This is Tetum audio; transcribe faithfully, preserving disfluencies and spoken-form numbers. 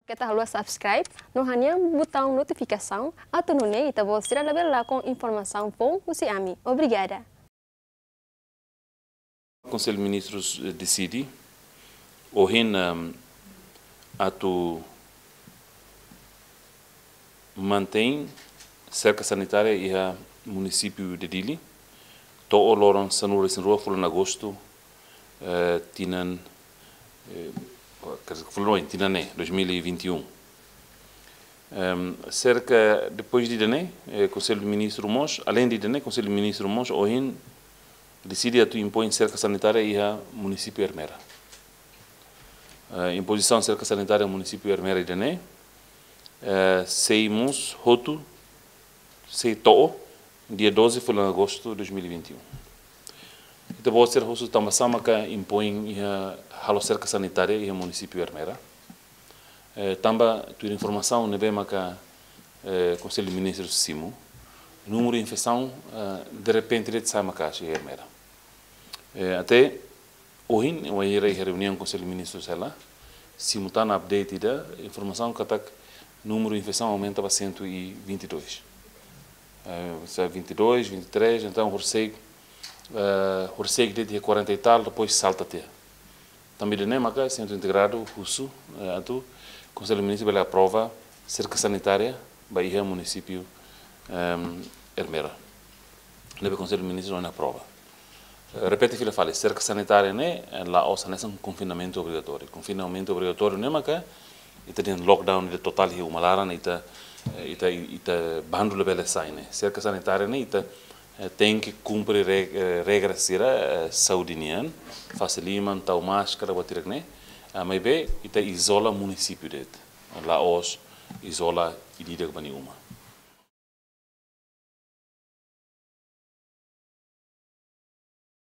Keta haluha subscribe no hanehan butaun notifikasaun, atu nune'e ita-boot sira labele lakon informasaun foun husi ami. Obrigada. Konsellu Ministrus, eh, deside ohin, ehm, atu mantein serka sanitária iha munisípiu de Dili to'o loron sanulu-resin-rua fulan Agostu, eh, tinan, eh, quer dizer, fulan oin, tinan ne'e, dois mil e vinte e um. Ehm, serka, depois de ida-ne'e, eh, Konsellu Ministru mós, além de ida-ne'e, Konsellu Ministru mós ohin deside atu impoin serka sanitária iha munisípiu Ermera. Eh, impozisaun serka sanitária munisípiu Ermera ida-ne'e, eh, sei mós hotu, sei to'o dia doze fulan Agostu dois mil e vinte e um. Ita-boot sira husu tanba sá maka impoin iha halo serka sanitária iha munisípiu Ermera. Eh, tanba tuir informasaun ne'ebé maka, eh, Konsellu Ministrus simu, númeru infesaun, eh, derrepente de'it sa'e maka'as iha Ermera. Eh, até ohin, wainhira iha reuniaun Konsellu Ministrus hela, simu tan update ida, informasaun katak númeru infesaun aumenta ba cento e vinte e dois. Eh, se vinte e dois, vinte e três, entaun, horisehik, eh, horisehik de'it iha quarenta e tal, depois salta tiha. Tanba ida-ne'e maka Sentru Integradu husu, eh, atu Konsellu Ministru bele aprova serka sanitária ba iha munisípiu, ehm, Ermera. Ne'ebé Konsellu Ministru la aprova. Eh, repete fila fali, serka sanitária ne'e, eh, la'ós hanesan konfinamentu obrigatóriu. Konfinamentu obrigatóriu ne'e maka ita dehan lockdown ida totál iha uma laran, ita, eh, ita, ita bandu labele sai ne'e. Serka sanitária ne'e ita, eh, tenke kumpre re-, eh, regra sira, eh, saúde nian, fase liman, tau máskara, buat hirak ne'e. Ah, maibé ita izola munisípiu de'it. La'ós izola ida-idak ba nia uma.